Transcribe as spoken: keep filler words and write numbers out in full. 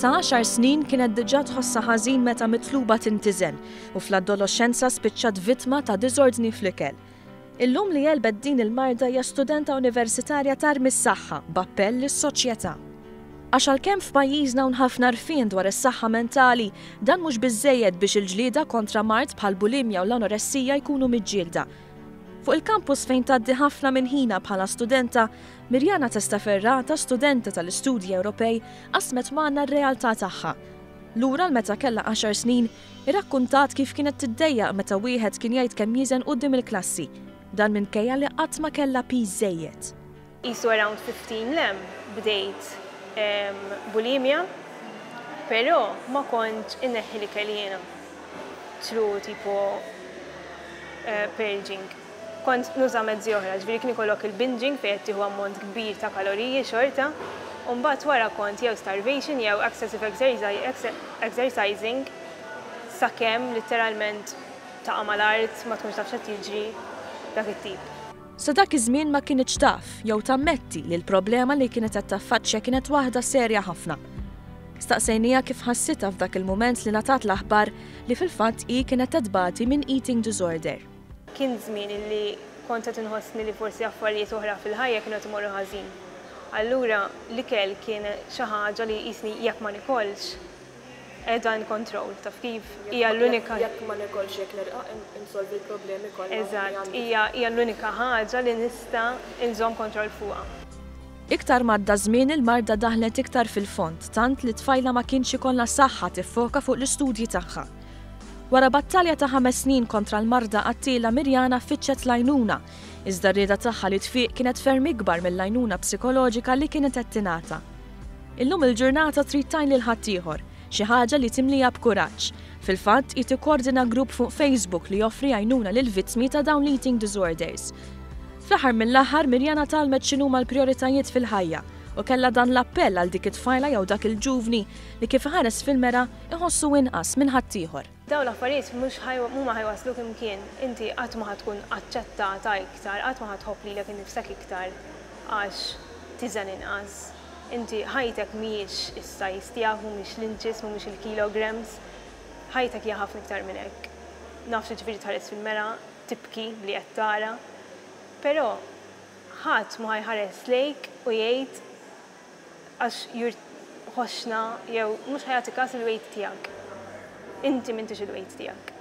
Ta' għaxar snin kienet diġà tħossha ħażin meta mitluba tintiżen u fl-adolescenza spiċċat vittma ta' diżordni fl-ikel. Illum li għelbet din il-marda hija studenta universitarja tarmi s-saħħa b'appell lis-soċjetà. Għax għalkemm f'pajjiżna hawn ħafna għarfien dwar is-saħħa mentali, dan mhux biżejjed biex il-ġlieda kontra mard bħal bulimja u l-anoressija jkunu miġġielda. Fuq il-kampus fejn tgħaddi ħafna minn ħina bħala studenta, Mirjana Testaferrata, studenta tal-Istudji Ewropej, qasmet magħna r-realtà tagħha. Lura l meta kellha għaxar snin, irrakkuntat kif kienet tiddejjaq meta wieħed kien jgħid kemm jiżen quddiem il-klassi. Dan minkejja li qatt ma kellha piż żejjed. Qisu around fifteen lem bdejt em, bulimia, però ma kontx inneħħi l-ikel jiena. Through tipo eh, purging. Kont nuża mezzi oħra, ġifieri kien ikollok il-binging fejn qed tieħu ammont kbir ta' kaloriji xorta, u mbagħad wara kont jew starvation jew excessive exercise- exercising sakemm literalment taqa' mal-art, ma tkunx taf x'qed jiġri, dak it-tip. Sa dak iż-żmien ma kienx taf jew tammetti li l-problema li kienet qed taffaċċja kienet waħda serja ħafna. Staqsejnija kif ħassitha f'dak il-mument li ngħatat l-aħbar li fil-fatt hi kienet tbati minn eating disorder. Kien żmien li kont qed inħossni li forsi affarijiet oħra fil-ħajja kienu qed imorru ħażin. Allura l-ikel kien xi ħaġa li jisni jekk ma nikolx qiegħda in control, taf kif, hija l-unika Jekk ma nikolx, jekk nirqaq, insolvi l-problemi kollha li Eżatt, għandi. hija hija l-unika ħaġa li nista' inżomm kontroll fuqha. Iktar m'għadda żmien, il-marda daħlet iktar fil-fond, tant li tfajla ma kienx ikollha saħħa tiffoka fuq l-istudji tagħha. Wara battalja ta' ħames snin kontra l-marda qattila, Mirjana fittxet l-għajnuna, iżda r-rieda tagħha li tfiq kienet ferm ikbar mill-għajnuna psikoloġika li kienet qed tingħata. Illum il-ġurnata trid tgħin lil ħaddieħor, xi ħaġa li timlija b'kuraġġ. Fil-fatt, hi tikkordina grupp fuq Facebook li joffri għajnuna lil vittmi ta' dawn l-eating disorders. Fl-aħħar mill-aħħar, Mirjana tgħallmet x'inhuma l-prioritajiet fil-ħajja u kellha dan l-appell għal dik it-tfajla jew dak il-ġuvni li kif ħares fil-mera iħossu inqas minn ħaddieħor. Dawn l-affarijiet mhux mhuma ħa jwassluk imkien. Inti qatt ma ħa tkun aċċettata iktar, qatt ma ħa tħobb lilek innifsek iktar għax tiżen inqas. Inti ħajtek mhijiex is-size tiegħek, mhumiex l-inches, mhumiex il-kilograms. Ħajtek hija ħafna iktar minn hekk. Naf ġifieri tħares fil-mera, tibki li qed tara, però ħadd ma ħa jħares lejk u jgħid għax jur ħoxna jew mhux ħa jagħti kas il-weight tiegħek. Inti m'intix il-weight tiegħek.